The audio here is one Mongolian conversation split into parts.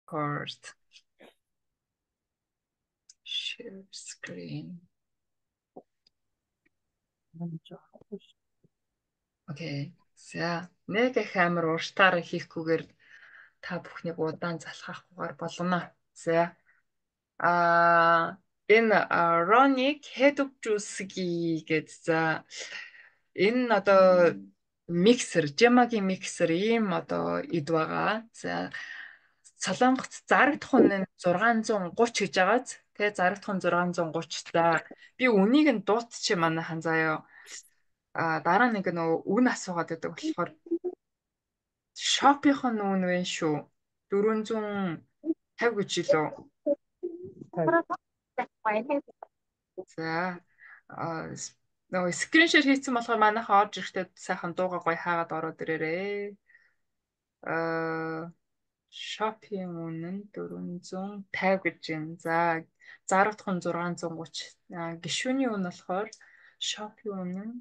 Record. Share screen. Окей. За, нэг их амар уртаар хийхгүйгээр та бүхнийг удаан залхахгүйгээр болно. За. Энэ Ronic Head of Juice гэдэг за энэ одоо миксер, Gemma-гийн миксер ийм одоо эд байгаа. За Солонгост зарагдах нь 630 гэж байгааз. Тэгээ зарагдах нь 630. За би үнийг нь дуутчих манайхан заяа. Дараа нэг нөө үн асуугаад байдаг болохоор Shopee-х нь үн вэ шүү. 450 гэж илүү. За нөгөө скриншот хийсэн болохоор манайхаа орж ирэхдээ сайхан дуугаа гоё хаагаад ороод ирээрээ. Shopee-ийн үнэ нь 450 гэж юм. За зарагдах нь 630. Гишүүний үнэ болохоор Shopee үнэ нь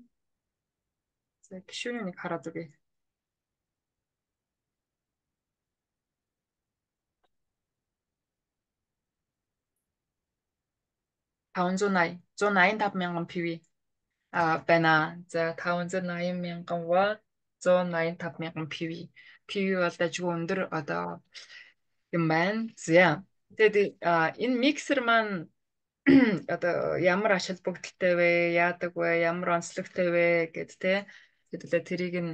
за гишүүний нэг хараад үгүй. 185 мянган PV байна. За 580 мянган Watt 185 мянган PV. PV бол дажгүй өндөр одоо юм байна. За тэгээд энэ миксер маань одоо ямар ашиг бүгдэлтэй вэ? Яадаг вэ? Ямар онцлогтой вэ гэд тэ. Хэдүүлээ тэрийг нь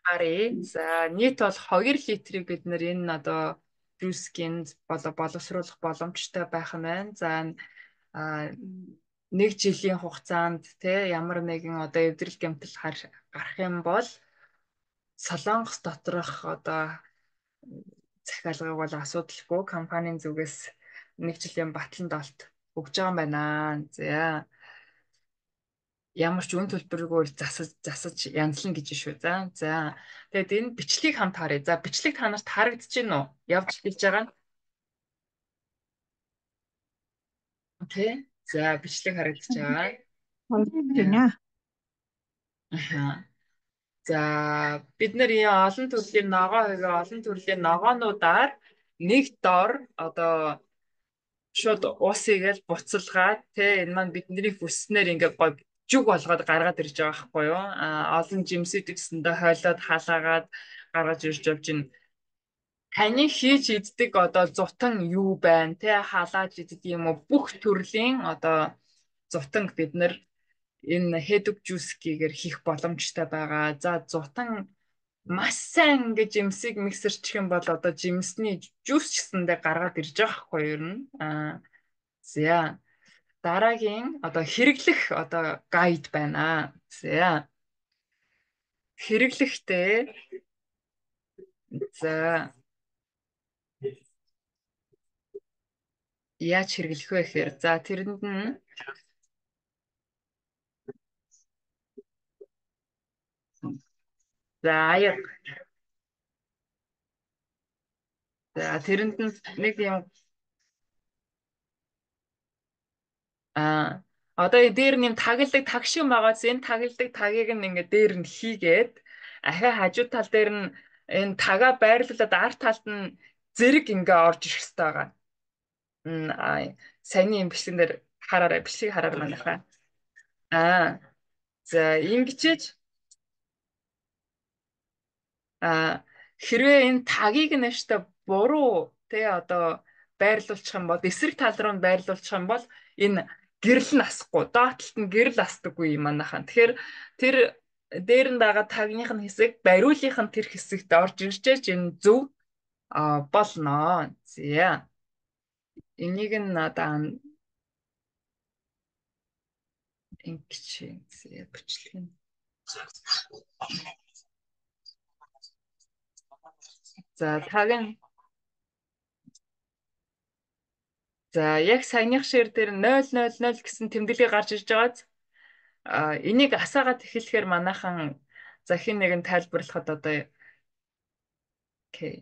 харъя. За нийт бол 2 литрийг бид нэр энэ одоо жүүскинд боловсруулах боломжтой байх нь байна. За нэг жилийн хугацаанд те ямар нэгэн одоо эвдрэл гэмтэл гарах юм бол Солонгос доторх одоо захиалгыг бол асуудалгүй компанийн зүгээс нэг жилийн батлан долт өгж байгаа юм байна. За ямар ч үн төлбөрөөр засаж янзлна гэж шүү. За тэгээд энэ бичлэгийг хамт харъя. За бичлэг та нарт харагдаж байна уу? Явж хэлж байгаа нь. Окей. За бичлэг харагдаж байгаа. За бид нар олон төрлийн олон төрлийн ногоонуудаар нэг дор одоо шууд уусыг буцалгаад энэ маань бидний хүснээр ингээд гоё жүг болгоод гаргаад ирж байгаа байхгүй юу? Олон жимсүүд гэсэндээ хойлоод халаагаад гаргаж ирж явж байна. Таны хийж иддэг одоо зутан юу байна? Халааж иддэг юм уу? Бүх төрлийн одоо зутанг бид нар энэ head of juice-гээр хийх боломжтой байгаа. За зутан маш сайн ингэж жимсийг миксерчих юм бол одоо жимсний жуус ч гэсэндээ гаргаад ирж байгаа хгүй юу ер нь. За дараагийн одоо хэрэглэх одоо гайд байна. За хэрэглэхдээ за яаж хэрэглэх вэ гэхээр за тэрэнд нь за аяг. За тэрэнд нь нэг юм одоо дээр нэм тагилдаг таг шиг байгааз энэ тагилдаг тагийг нь ингээд дээр нь хийгээд ахаа хажуу тал дээр нь энэ тагаа байрлуулад арт талд нь зэрэг ингээ орж ирэх хэрэгтэй байгаа. Саяны юм бичлэгэн дээр хараарай, бичлэгийг хараарай манайхаа. За ингэчээж хэрвээ энэ тагийг нэштэй буруу одоо байрлуулчих юм бол эсрэг тал руу нь байрлуулчих юм бол энэ гэрэл нь асахгүй доотлолт нь гэрэл асдаггүй юм манайхан. Тэгэхээр тэр дээр нь байгаа тагных нь хэсэг бариулынх нь тэр хэсэгт орж ирчээж энэ зөв болно. За энийг нь одоо ингэж бичлэг нь за таг нь за яг саяных шир дээр 000 гэсэн тэмдэглэг гарч ирж байгааз энийг асаагаад эхлэхээр манайхан за хин нэгэн тайлбарлахад одоо окей.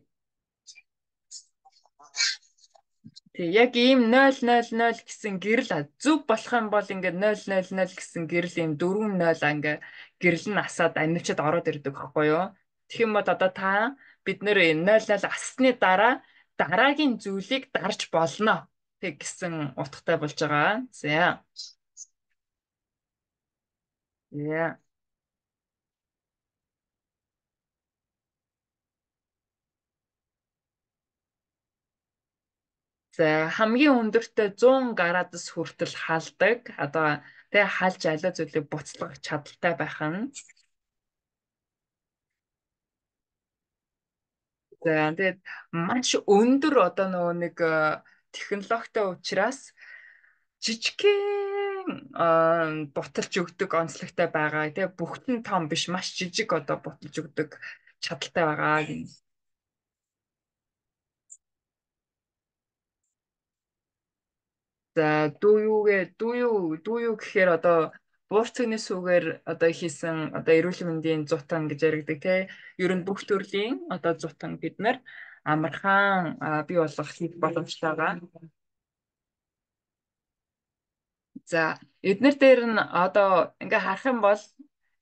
Тэг яг ийм 000 гэсэн гэрэл зөв болох юм бол ингээд 000 гэсэн гэрэл ийм 4-0 ингээ гэрэл нь асаад амьчад ороод ирдэг байхгүй юу? Тэгэх юм бол одоо бид нэр 0-0 ассны дараа дараагийн зүйлийг дарж болно гэсэн утгатай болж байгаа. За. Yeah. За хамгийн өндөртөө 100 градус хүртэл халдаг. Одоо тэгээ халж аливаа зүйлийг буцалгах чадaltaй байх нь. За тэгээд маш өндөр одоо нөгөө нэг технологитой учраас жижигхэн буталж өгдөг онцлогтой байгаа. Тэгээ бүгд нь том биш, маш жижиг одоо буталж өгдөг чадaltaй байгаа. За дүү юу гэхээр одоо буурцагны сүгээр одоо хийсэн одоо эрүүл мэндийн зутан гэж яригдаг те. Ер нь бүх төрлийн одоо зутан бид нар амархан бий болгох хийх боломжтой байгаа. За эднэр дээр нь одоо ингээ харах юм бол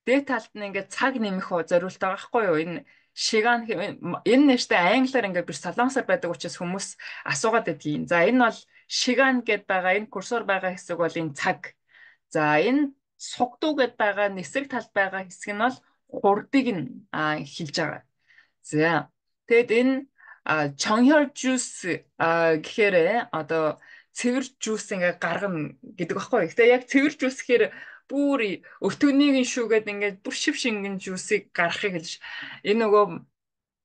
дээд талд нь ингээ цаг нэмэх зориултаа байгаа хгүй юу? Энэ шигаан энэ нэртэй англиар ингээ биш солонгосоор байдаг учраас хүмүүс асуугаад байдгийн. За энэ бол шигаан гэд байгаа, энэ курсор байгаа хэсэг бол энэ цаг. За энэ сугдуу гэд байгаа нисэг талд байгаа хэсэг нь бол хурдыг нь хэлж байгаа. За тэгэд энэ чонхор жуус гэхээр одоо цэвэр жуус ингээ гаргана гэдэг багхгүй. Гэтэ яг цэвэр жуус гэхээр бүр өтгөнийг нь шүүгээд ингээд бүр шив шингэн жуусыг гаргахыг хэлж энэ нөгөө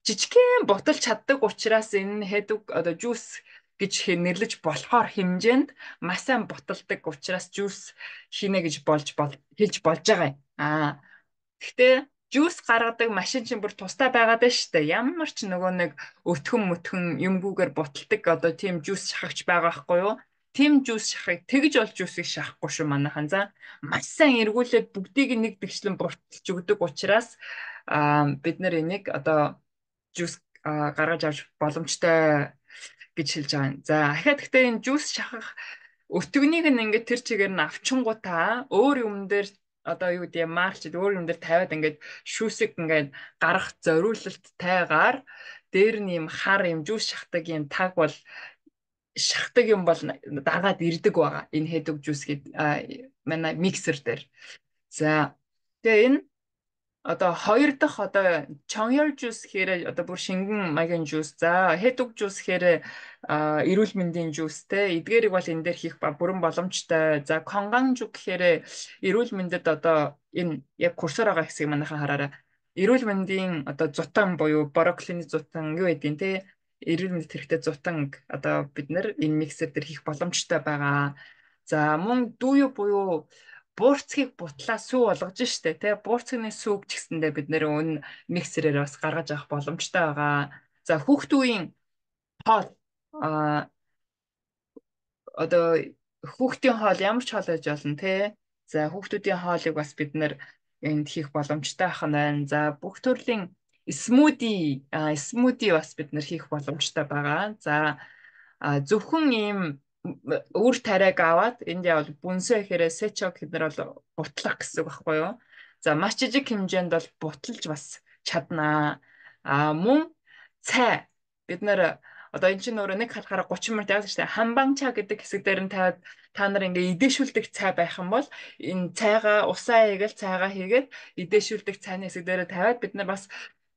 жижигхэн буталж чаддаг учраас энэ хэдэг одоо жуус гэж нэрлэж болохоор хэмжээнд маш сайн буталдаг учраас жуус хийнэ гэж хэлж болж байгаа юм. Гэхдээ жуус гаргадаг машин чинь бүр тустай байгаад байна шүү дээ. Ямар ч нөгөө нэг өтгөн мөтгөн юмгүйгээр буталдаг одоо тийм жуус шахагч байгаа байхгүй юу? Тийм жуус шахах тэгж бол жуусыг шахахгүй шүү манайхан. За маш сайн эргүүлээд бүгдийг нэг тэгшлэн бурталж өгдөг учраас бид нар энийг одоо жуус гаргаж авч боломжтой гэж хэлж байгаа юм. За ахаад гэхдээ энэ жуус шахах өтгөнийг нь ингээд тэр чигээр нь авчингуудаа өөр юм дээр одоо юу гэдэг марч өөр юм дээр тавиад ингээд шүүсэг ингээд гарах зориулалттайгаар дээр нь юм хар юм жуус шахдаг юм таг бол шахдаг юм бол дагаад ирдэг байгаа. Энэ хэдэг жуус гээд манай миксер дээр. За тэгээ энэ одоо хоёр дахь одоо чоньёр жуус гэхээр одоо бүр шингэн маягийн жуус. За хэдэг жуус гэхээр эрүүл мэндийн жуус те. Эдгээрийг бол энэ дээр хийх бүрэн боломжтой. За конганжу гэхээр эрүүл мэндэд одоо энэ яг курсор байгаа хэсгийг манайхан хараарай. Эрүүл мэндийн одоо зутан буюу брокколины зутан юу гэдгийг те. Эрүүл мэндэд хэрэгтэй зутан одоо бид нар энэ миксер дээр хийх боломжтой байгаа. За мөн дүүю буюу буурцгийг бутлаа сүү болгож штэ тий буурцгийн сүүг ч гэсэндээ бид нэр өн миксерээр бас гаргаж авах боломжтой байгаа. За хүүхд үеийн хоол одоо хүүхдийн хоол ямар ч хоол байж болно тий. За хүүхдүүдийн хоолыг бас бид нэр энд хийх боломжтой байх нь байна. За бүх төрлийн смуди бас бид нэр хийх боломжтой байгаа. За зөвхөн ийм үр тариаг аваад энд явал бүнсээ хэрэг сечо гэхээр бол бутлах гэсэн үг байхгүй юу? За маш жижиг хэмжээнд бол буталж бас чаднаа. Мөн цай бид нэр одоо эн чинь өөрөө нэг халахаараа 30 минут яваад штэ хамбанча гэдэг хэсэг дээр нь тавиад та нар ингээ идээшүүлдэг цай байх юм бол энэ цайгаа усаа хийгээл цайгаа хийгээд идээшүүлдэг цайны хэсэг дээр тавиад бид нар бас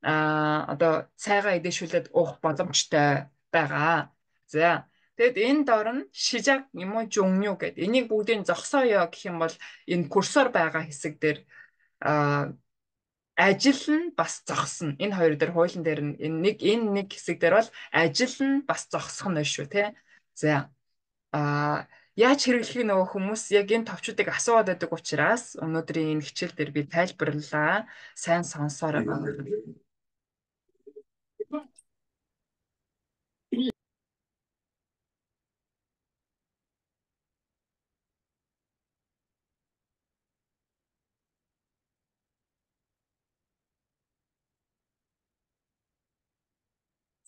одоо цайгаа идээшүүлээд уух боломжтой байгаа. За тэгэд энэ дор нь шижак юм уу жунгню гэдэг. Энийг бүгдийг зогсооё гэх юм бол энэ курсор байгаа хэсэг дээр ажил нь бас зогсно. Энэ хоёр дээр хуулийн дээр нь энэ нэг хэсэг дээр бол ажил нь бас зогсох нь шүү тий. За яаж хэрэглэхийг нөгөө хүмүүс яг энэ товчуудыг асууад байдаг учраас өнөөдрийн энэ хичээл дээр би тайлбарлалаа. Сайн сонсоорой.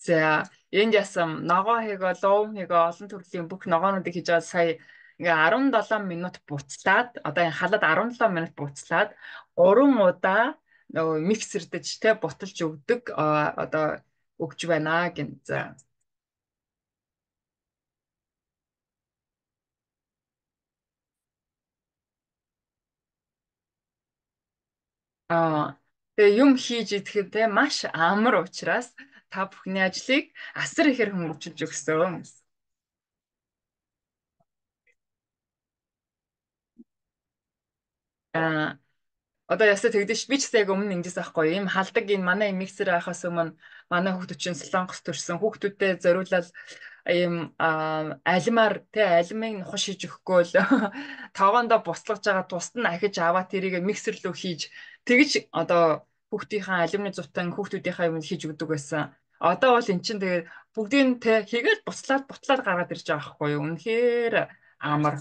За энд ясам ногоо хийгээ, луун хийгээ, олон төрлийн бүх ногоонуудыг хийж байгаа сая ингээ 17 минут буцлаад одоо энэ халад 17 минут буцлаад 3 удаа нөгөө миксердэж те буталж өгдөг одоо өгч байна гин. За Аа. Тэгээ юм хийж идэхэд те маш амар учраас та бүхний ажлыг асар ихээр хөнгөвчилж өгсөн. Аа. Одоо ясаа тэгдэж би ч гэсэн яг өмнө ингэжсэн байхгүй юм халдаг энэ манай юм миксер байхаас өмнө манай хүүхдүүд чинь солонгос төрсэн хүүхдүүдэд зориулаад ийм алимаар тэ алимыг нухаш хийж өгөхгүй л таваандаа буцлагж байгаа тусад нь ахиж аваад тэрийг миксер рүү хийж тэгж одоо хүүхдийнхээ алимны зутан хүүхдүүдийнхээ юм хийж өгдөг байсан. Одоо бол эн чинь тэгээ бүгдийг тэ хийгээл бутлаад гаргаад ирж байгаа байхгүй юу. Үнэхээр амар.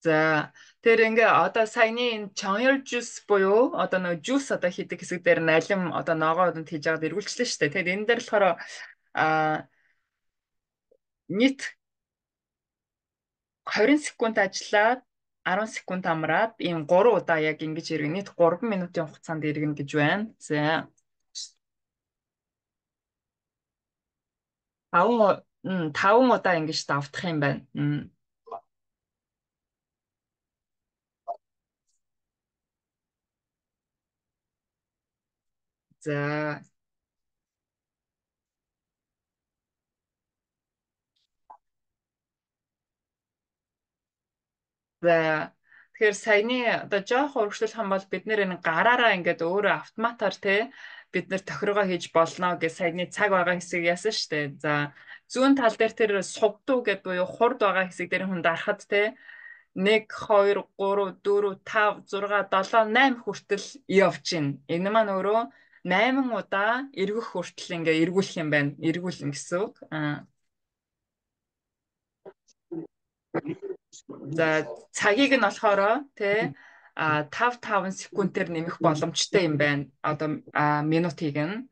За тэр ингээ одоо саяны энэ чоёр жус буюу одоо нэг жус одоо хийдэг хэсэг дээр налим одоо ногоо одонд хийж аваад эргүүлчихлээ шүү дээ. Тэгэхээр энэ дээр болохоор а нийт 20 секунд ажиллаад 10 секунд амраад ийм 3 удаа яг ингэж иргэн нийт 3 минутын хугацаанд иргэн гэж байна. За 5 удаа ингэж давтах юм байна. За За тэгэхээр саяны одоо жоох урагшлуулах юм бол бид нэр энэ гараараа ингээд өөрөө автоматар те бид нэр тохиргоо хийж болно гэж саяны цаг байгаа хэсэг яасан шүү дээ. За зүүн тал дээр тэр сувдуу гэдэг буюу хурд байгаа хэсэг дээр хүн дарахад те 1 2 3 4 5 6 7 8 хүртэл явж гин. Энэ маань өөрөө 8 удаа эргэх хүртэл ингээ эргүүлэх юм байна. Эргүүлнэ гэсэн үг. За цагийг нь болохоор тий 5 секундээр нэмэх боломжтой юм байна. Одоо минутыг нь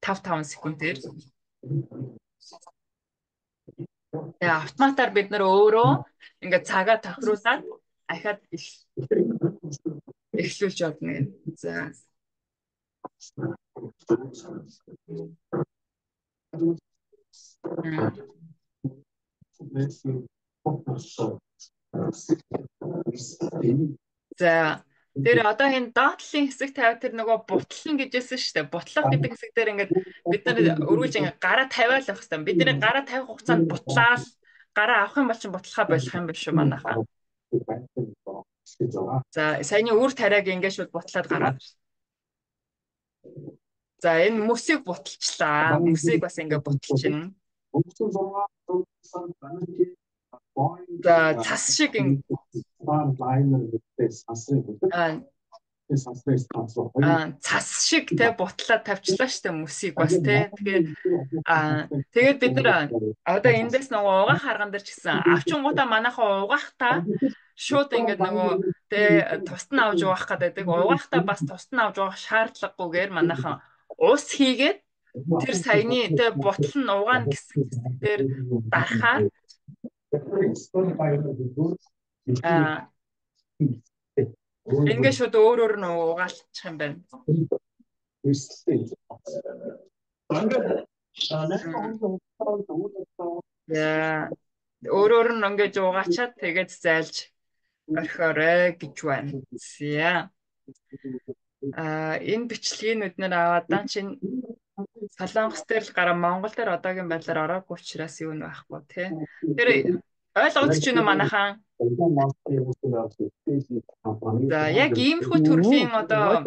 5 секундээр. Тэгээ автоматар бид нар өөрөө ингээд цагаа тохируулаад ахаад эхлүүлж явна. За. За тэр одоо энэ доотлын хэсэг тавиад тэр нөгөө бутлан гэжсэн шүү дээ. Бутлах гэдэг хэсэг дээр ингээд бид нар өргүүлж ингээд гараа тавиал явах хэрэгтэй. Бидний гараа тавих хугацаанд бутлаал гараа авах юм бол ч бутлахаа болох юм биш үү манайхаа. За саяны үр тариаг ингээд шууд бутлаад гараад. За энэ мөсийг буталчлаа. Мөсийг бас ингээд буталчихна. За цас шиг цас шиг те бутлаад тавьчлаа штэ мөсийг бас те тэгээд бид нар одоо эндээс нөгөө угаах арган дээр ч гэсэн авчингуудаа манайхаа угаахтаа шууд ингээд нөгөө те тусад нь авч угаах гэдэг угаахтаа бас тусад нь авч угаах шаардлагагүйгээр манайхан ус хийгээд тэр саяны те бутал нь угаана гэсэн дээр дарахаар ингээд шууд өөр нь угаалчих юм байна. Яа. Өөр нь ингээд угаачаад тэгээд зайлж орхиорой гэж байна. За. Энэ бичлэгийг бид аваад чинь Солонгос дээр л гараа Монгол дээр одоогийн байдлаар ороогүй учраас юу нь байхгүй тий. Тэр ойлгож чинь манайхан. За яг иймэрхүү төрлийн одоо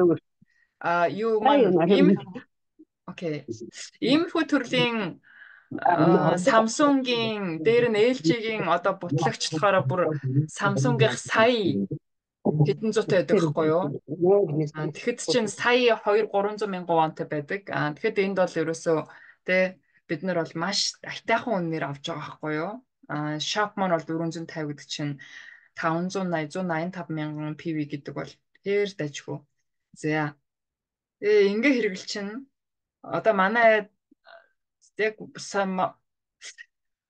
юу маань окей. Иймэрхүү төрлийн Samsung-ийн дээр нь LG-ийн одоо бутлагчлахаараа бүр Samsung-ийн сая хэдэн зүйтэй байдаг байхгүй юу? Тэгэхэд чинь сая 200-300 мянган вонтой байдаг. Тэгэхэд энд бол ерөөсөө тэ бид нар бол маш айтайхан үнээр авч байгаа байхгүй юу? Shop маань бол 450 гэдэг чинь 580 185 мянган PV гэдэг бол ээр дажгүй. За. Ингээ хэрэгэл чинь одоо манай яг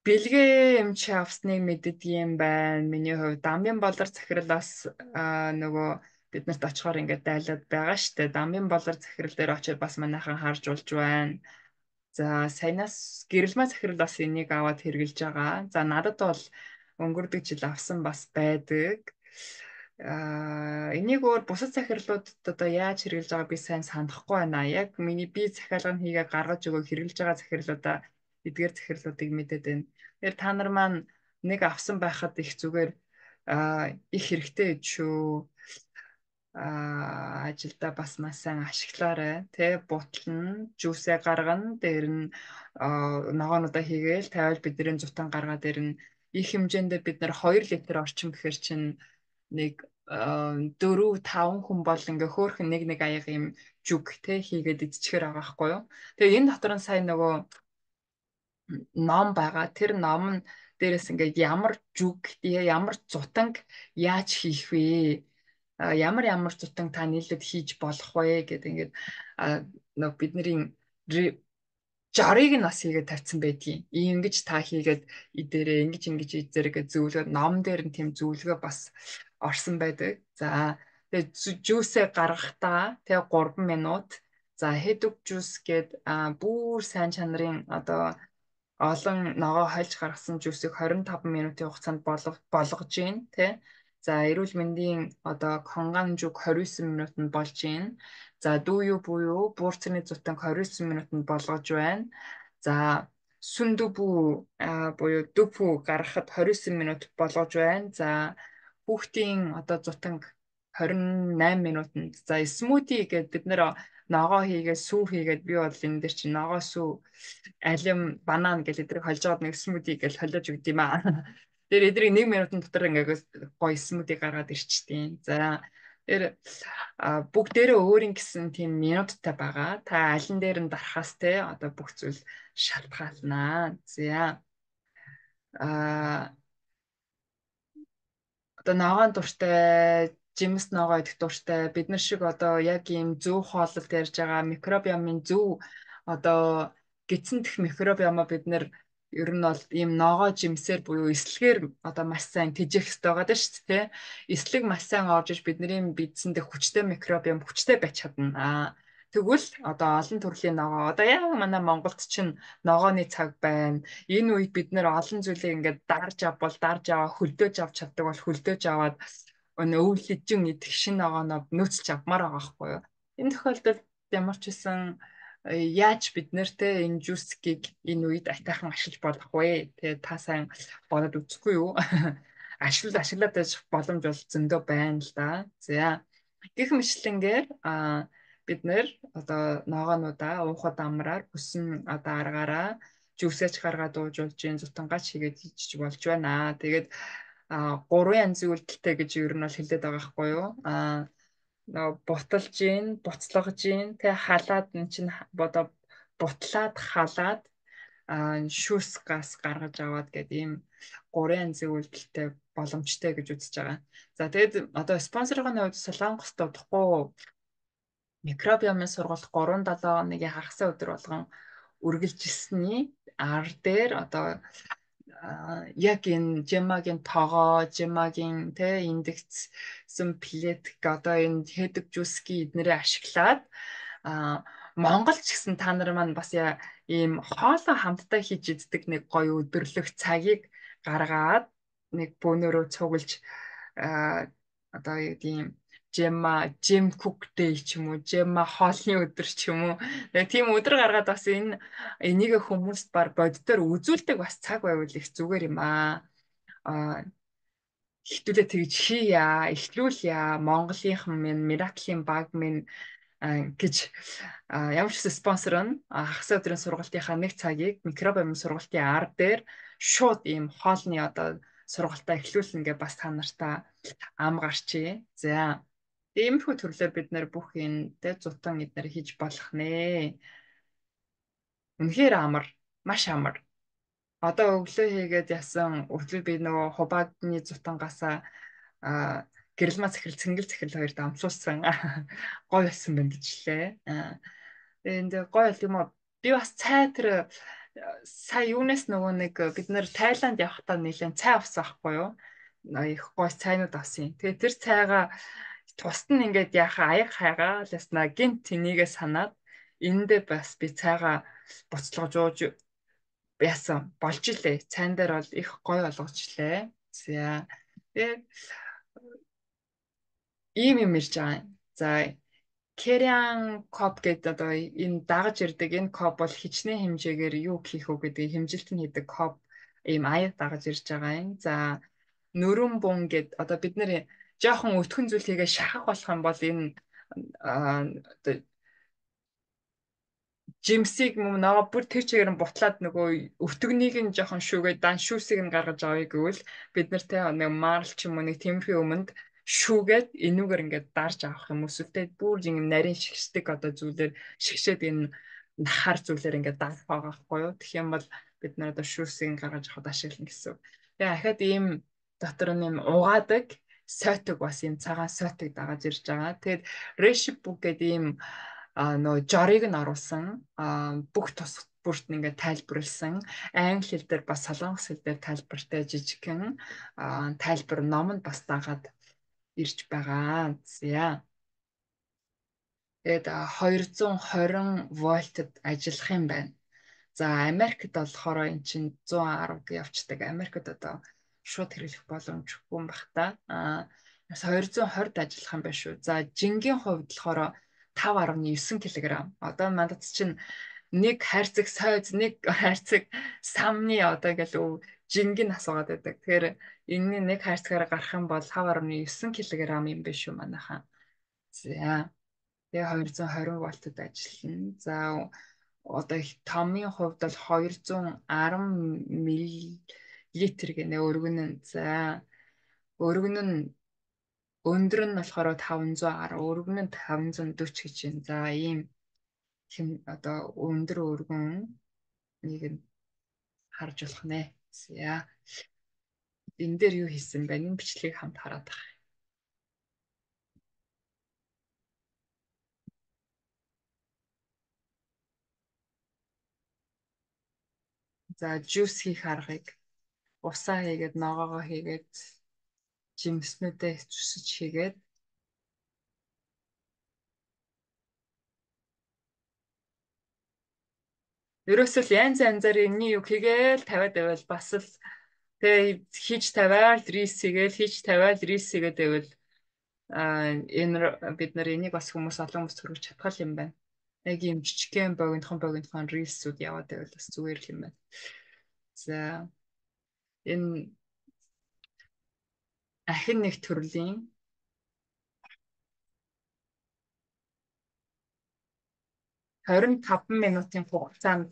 бэлгээ юм чи авсныг мэддэг юм байна. Миний хувьд дамбын болор захирлаас нөгөө биднэрт очихоор ингээд дайлаад байгаа штэ. Дамын болор захирал дээр очиод бас манайхан харж болж байна. За саянаас гэрэлмаа захирал бас энийг аваад хэрглэж байгаа. За надад бол өнгөрдөг жил авсан бас байдаг. Энийг өөр бусад захирлуудад одоо яаж хэрэгжилж байгааг би сайн санахгүй байна. Яг миний би захиалгын хийгээ гаргаж өгөө хэрэгжилж байгаа захирлуудаа эдгээр захирлуудыг мэдээд байна. Тэгэхээр та нар маань нэг авсан байхад их зүгээр их хэрэгтэй шүү. Ажилдаа бас маш сайн ашиглаарай. Тэ бутлан, жүүсээ гаргана, дээр нь ногоонуудаа хийгээл тавиал бидний зутан гаргаад дээр нь их хэмжээндээ бид нар 2 литр орчим гэхэр чинь нэг 4-5 хүн бол ингээ хөөхн нэг аяга юм жүг те хийгээд идчихээр байгаа байхгүй юу. Тэгээ энэ дотор нь сайн нөгөө ном байгаа. Тэр ном нь дээрээс ингээ ямар жүг, ямар зутанг яаж хийх вэ? Ямар зутанг та нийлээд хийж болох вэ гэдэг ингээд бидний жарыг нь бас хийгээд тавьсан байдгийг. Ингэж та хийгээд идээрээ ингэж идээрээ зөвлөгөө ном дээр нь тийм зөвлөгөө бас орсон байдаг. За тэгээ жүүсээ гаргахдаа тэгээ 3 минут. За хэдүг жүүс гээд бүр сайн чанарын одоо олон ногоо хольж гаргасан жүүсийг 25 минутын хугацаанд болгож гин тий. За эрүүл мэндийн одоо конган жүг 29 минутанд болж гин. За дүү буюу буурцны зутанг 29 минутанд болгож байна. За сүндүбүү буюу дүпүү гаргахад 29 минут болгож байна. За хүүхдийн одоо зутанг 28 минутанд. За смути гэдэг бид нэр ногоо хийгээд сүү хийгээд би бол энэ дээр чинь ногоо сүү алим банан гэж эдрийг холж аваад нэг смути гэж холиож өгд юм аа. Тэр эдрийг 1 минутын дотор ингээд гоё смути гаргаад ирчтiin. За тэр бүгдээрээ өөрийн гэсэн тийм минуттай байгаа. Та алин дээр нь дарахаас те одоо бүх зүйл шалтгаалнаа. За одоо ногоон дуртай, жимс ногоо идэх дуртай бид нар шиг одоо яг ийм зөв хооллолт ярьж байгаа микробиомын зөв одоо гидсэн дэх микробиомоо бид нар ер нь бол ийм ногоо жимсээр буюу эслэгээр одоо маш сайн тэжээх хэрэгтэй байгаа даа шүү дээ. Эслэг маш сайн орж иж бидний бидсэн дэх хүчтэй микробиом хүчтэй байж чадна. Тэгвэл одоо олон төрлийн ногоо одоо яг манай Монголд чинь ногооны цаг байна. Энэ үед бид нэр олон зүйлийг ингээд дарж аваа хөлдөөж авч чаддаг бол хөлдөөж аваад өвлөжин идэх шин ногооноо нөөцлж авмаар байгаа байхгүй юу. Энэ тохиолдолд ямар ч байсан яаж бид нэртэй энэ жүүсгийг энэ үед атайхан ашиглаж болох вэ? Тэгээ та сайн бодоод үзэхгүй юу? Ашиглаад байж боломж бол зөндөө байна л да. За гэх мэтлэнгээр бид нэр одоо ногоонуудаа уухад амраар бүсэн одоо аргаараа жүүсэж гаргаад ууж болж гин зутангаач хийгээд хийж болж байна. Тэгээд 3 янзын үйлдэлтэй гэж ер нь бол хэлээд байгаа байхгүй юу? Буталж гин, буцлагж гин, тэг халаад эн чин одоо бутлаад халаад шүүс газ гаргаж аваад гэдэг ийм 3 янзын үйлдэлтэй боломжтой гэж үзэж байгаа. За тэгээд одоо спонсорын хувьд Солонгост удахгүй микробиомын сургалт 3-7 хоногийн хагасаа өдөр болгон үргэлжилсэний ар дээр одоо яг энэ жемагийн тоогоо, жемагийн тэ индекссэн плетик одоо энэ хэдэг жүүсгийн эднэрээ ашиглаад Монгол ч гэсэн та нар маань бас ийм хоолой хамтдаа хийж иддэг нэг гоё өдөрлөх цагийг гаргаад нэг бөөнөрөө цуглаж одоо ийм жем кук дэй ч юм уу, жема хоолны өдөр ч юм уу. Тийм өдөр гаргаад бас энийг хүмүүст баг боддоор үзүүлдэг бас цаг байвал их зүгээр юм аа. Ихтүүлээ тэгж хийя, ихлүүлье. Монголынхан минь, Мираклийн баг минь гэж ямар ч спонсор нь хагас өдрийн сургалтынхаа нэг цагийг микробиомын сургалтын ар дээр шууд ийм хоолны одоо сургалтаа эхлүүлнэ гэж бас та нартаа ам гарчээ. За иймэрхүү төрлөөр бид нэр бүх энэ зутан эднэр хийж болох нэ. Үнэхээр амар, маш амар. Одоо өглөө хийгээд ясан өглөө би нөгөө хубаадны зутангаасаа гэрэлмаа цэнгэл хоёр дамжуулсан гоё болсон байна гэжлээ. Тэгээд гоё юм уу? Би бас цай тэр сая юунаас нөгөө нэг бид нэр Тайланд явахдаа нэлээд цай авсан байхгүй юу? Их гоё цайнууд авсан. Тэгээд тэр цайгаа Тусад нь ингээд яхаа аяг хайгаа ласнаа гинт тнийгээ санаад эндээ бас би цайгаа буцалгаж ууж яасан болж илээ. Цайн дээр бол их гоё болгочлээ. За. Тэгээд ийм юм ирж байгаа юм. За, Кериан коп гэдэг одоо энэ дагаж ирдэг энэ коп бол хичнээн хэмжээгээр юу хийх үү гэдэг хэмжилтэн хийдэг коп ийм аяг дагаж ирж байгаа юм. За, нөрөн бун гэд одоо бид нэр жоохон өтгөн зүйл хийгээ шахах болох юм бол энэ одоо жимсийг мөн нөгөө бүр тэр чигээр нь бутлаад нөгөө өвтгнийг нь жоохон шүүгээд дан шүүсийг нь гаргаж авъя гэвэл бид нартэй нэг марл ч юм уу нэг тиймэрхүү өмнөд шүүгээд энүүгээр ингээд дарж авах юм өсөлтөө бүр юм нарийн шигшдэг одоо зүйлээр шигшээд энэ нахаар зүйлээр ингээд дарах байгаа хгүй юу. Тэгэх юм бол бид нар одоо шүүсийг нь гаргаж авахд ашиглана гэсэн. Тэгээ ахаад ийм дотор нь юм угаадаг сойтог бас юм цагаан сойтог дагаж ирж байгаа. Тэгээд решип бүк гэдэг ийм нөө жорыг нь оруулсан бүх тус бүрт нь ингээд тайлбарлсан англи хэл дээр бас солонгос хэл дээр тайлбартай жижигхэн тайлбар ном нь бас дагаад ирж байгаа. За. Тэгээд 220 вольтод ажиллах юм байна. За, Америкт болохоор эн чинь 110-д явцдаг. Америкт одоо шууд хэрэглэх боломжгүй юм бах та. 220-д ажиллах юм байна шүү. За, жингийн хувьд болохоор 5.9 кг. Одоо мандат чинь нэг хайрцаг сойз, нэг хайрцаг самны одоо ингээл жингийн асуугаад байдаг. Тэгэхээр энэний нэг хайрцагаараа гарах юм бол 5.9 кг юм биш үү манайхаа. За. Тэгээ 220 вольтод ажиллана. За, одоо томын хувьд бол 210 мл гэнэ өргөн нь. За, өргөн нь өндөр нь болохоор 510, өргөн нь 540 гэж байна. За, ийм одоо өндөр өргөн нэг нь харж болох нэ. За, энэ дээр юу хийсэн бэ? Энэ бичлэгийг хамт хараад байгаа. За, жуус хийх аргыг усаа хийгээд ногоогоо хийгээд жимснүүдээ зүсэж хийгээд ерөөсөө л янз янзаар энэний юу хийгээл тавиад байвал бас л тэгээ хийж тавиал рис хийгээл хийж тавиал рис хийгээд байвал энэ бид нар энийг бас хүмүүс олон хүмүүс төрөж чадхал юм байна. Яг юм жижигхэн богинохон рилсүүд яваад байвал бас зүгээр л юм байна. За, энэ ахин нэг төрлийн 25 минутын хугацаанд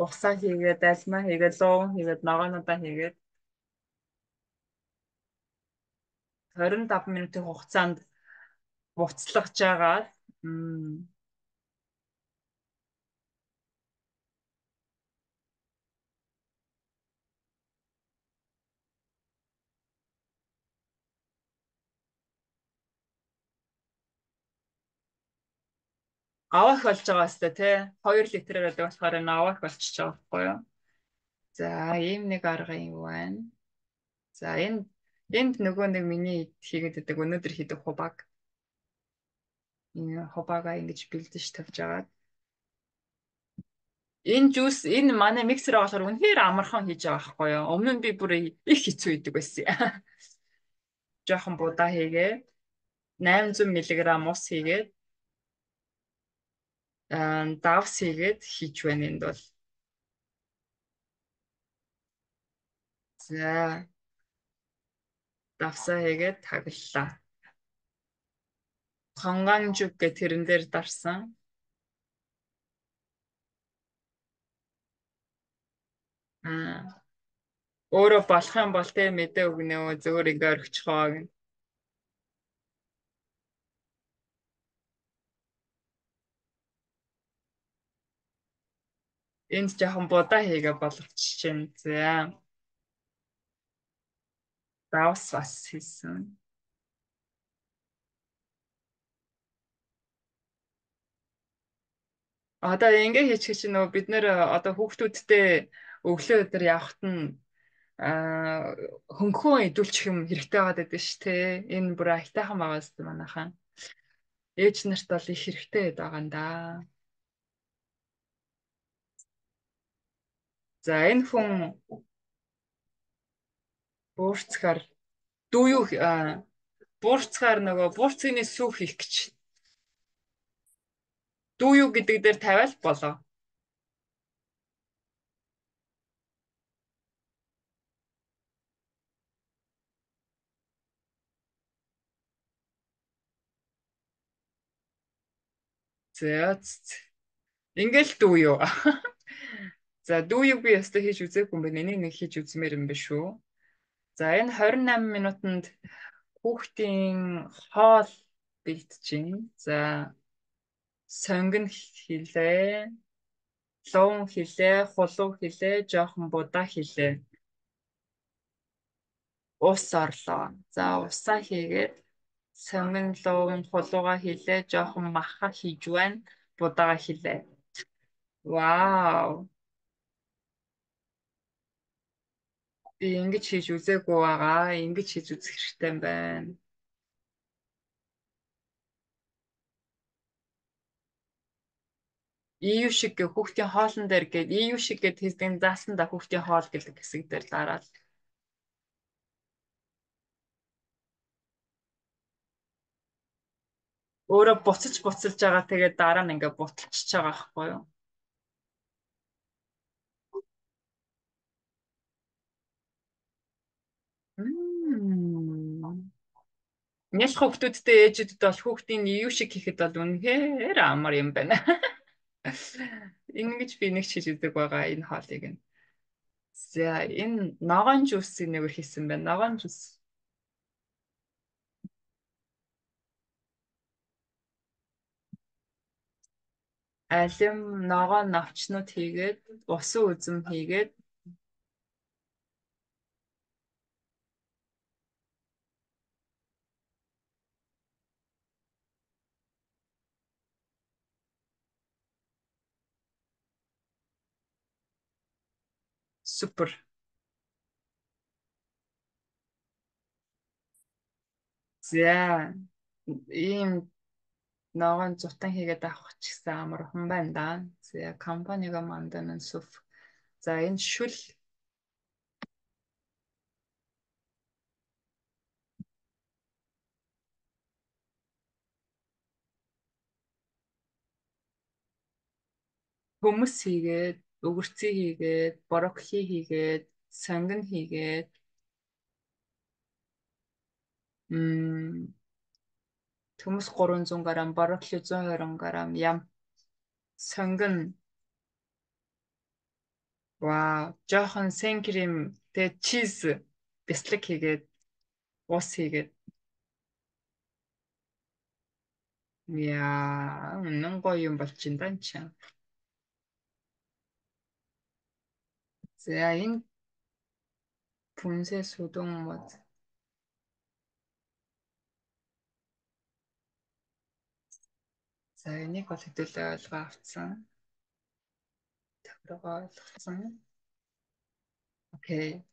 усаа хийгээд, альмаа хийгээд, луун хийгээд, ногоонуудаа хийгээд 25 минутын хугацаанд буцлагж байгаа. Авах болж байгаа хэвээр тий. 2 литрээр байдаг болохоор энэ авах болчихж байгаа байхгүй юу? За, ийм нэг арга юм байна. За, энд нөгөө нэг миний хийгээд байдаг өнөөдөр хийдэг хубаг. Энэ хубагаа ингэж бэлдэж тавьж агаад. Энэ жуус энэ манай миксер болохоор үнэхээр амархан хийж байгаа байхгүй юу? Өмнө нь би бүр их хэцүү идэг байсан. Жохон будаа хийгээ. 800 мг ус хийгээд давс хийгээд хийж байна энд бол. За, давсаа хийгээд таглалаа. Конганжук гэх тэрэн дээр дарсан. Өөрөө болох юм бол тэ мэдээ өгнө үү зөвөр ингээ орчихоо гэн. Энд жоохон будаа хийгээ болгочихжээ. За. Давс бас хийсэн. Одоо ингээ хийчих чинь нөгөө бид нэр одоо хүүхдүүдтэй өглөө өдөр явахт нь Аа хөнгөн идүүлчих юм хэрэгтэй байгаад байдаг шүү дээ. Энэ бүр айтайхан байгаа зү манайхан. Ээж нарт бол их хэрэгтэй байгаа юм да. За энэ хүн буурцгаар дүү юу буурцгаар нөгөө буурцгийн сүүх хийх гэж. Дүү юу гэдэг дээр тавиал болоо. За ингээл дүү юу. За дүү юу би ястаа хийж үзээгүй юм байна. Энийг нэг хийж үзмээр юм биш үү? За энэ 28 минутанд хүүхдийн хоол бэлтжин. За сонгон хилээ, луун хилээ, хулуу хилээ, жоохон будаа хилээ. Ус орлоо. За усаа хийгээд сонгон луун хулууга хилээ, жоохон маха хийж байна. Будаага хилээ. Вау. Би ингэж хийж үзээгүй байгаа. Ингэж хийж үзэх хэрэгтэй юм байна. EU шиг хүүхдийн хоолн дээр гээд EU шиг гээд хэсгийн заасан да хүүхдийн хоол гэдэг хэсэг дээр дараад. Өөрөө буцалж байгаа тэгээд дараа нь ингээ буталчихж байгаа байхгүй юу? Мм. Нялх хүүхдүүдтэй ээжүүдэд бол хүүхдийн EU шиг хийхэд бол үнэхээр амар юм байна. Ингэж би нэг ч хийж үздэг байгаа энэ хоолыг нь. За энэ ногоон жуусыг нэгээр хийсэн байна. Ногоон жуус. Алим ногоон навчнууд хийгээд усан үзэм хийгээд супер. За ийм ногоон зутан хийгээд авах ч гэсэн амархан байна да. За компанига мандан сүф. За энэ шүл hummus хийгээд, өгөрцөө хийгээд, брокколи хийгээд, сонгон хийгээд, hummus 300 г, брокколи 120 г, ям, сонгон, вау, жоохон сен крем, тэгээд чиз, бяцлаг хийгээд, ус хийгээд. Яа, үнэн гоё юм болчих юм чи. За энэ Пүнсээ сүдэн мод. За энийг бол хэдүүлээ ойлгоо авцсан. Таврага ойлгоцсон. Окей.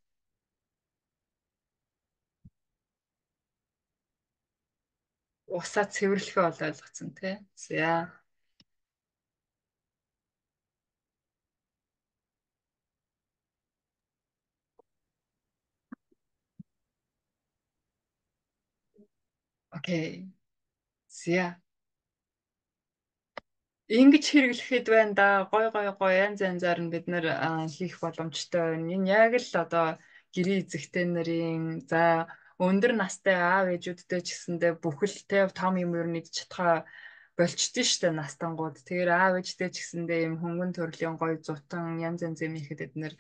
Усаа цэвэрлэхээ бол ойлгоцсон тий. За. Окей. За. Ингэж хэрэглэхэд байна да. Гой янз янзаар нь бид нэр хийх боломжтой байна. Энэ яг л одоо гэрээ эзэгтэй нарын за өндөр настай аав ээжүүдтэй ч гэсэндээ бүхэлдээ том юм ер нь идэж чадхаа болчихдээ штэ настангууд. Тэгэхээр аав ээжтэй ч гэсэндээ юм хөнгөн төрлийн гоё зутан янз янз юм ихэд эднэр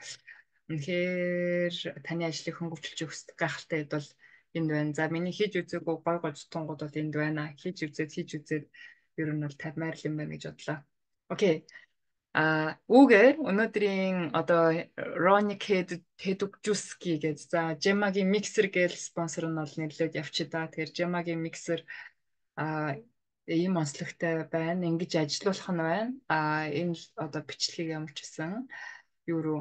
үнэхээр таны ажлыг хөнгөвчлж өгөх гайхалтай хэд бол энд байна. За миний хийж үзээгүй гой зутангууд бол энд байна. Хийж үзээд ер нь бол тавмаар юм байна гэж бодлоо. Окей. Үүгээр өнөөдрийн одоо Ronic Hedugjuski гэж за Gemma-гийн миксер гээл спонсор нь бол нэрлээд явчих да. Тэгэхээр Gemma-гийн миксер ийм онцлогтой байна. Ингэж ажиллуулах нь байна. Энэ одоо бичлэгийг ямар ч гэсэн юу руу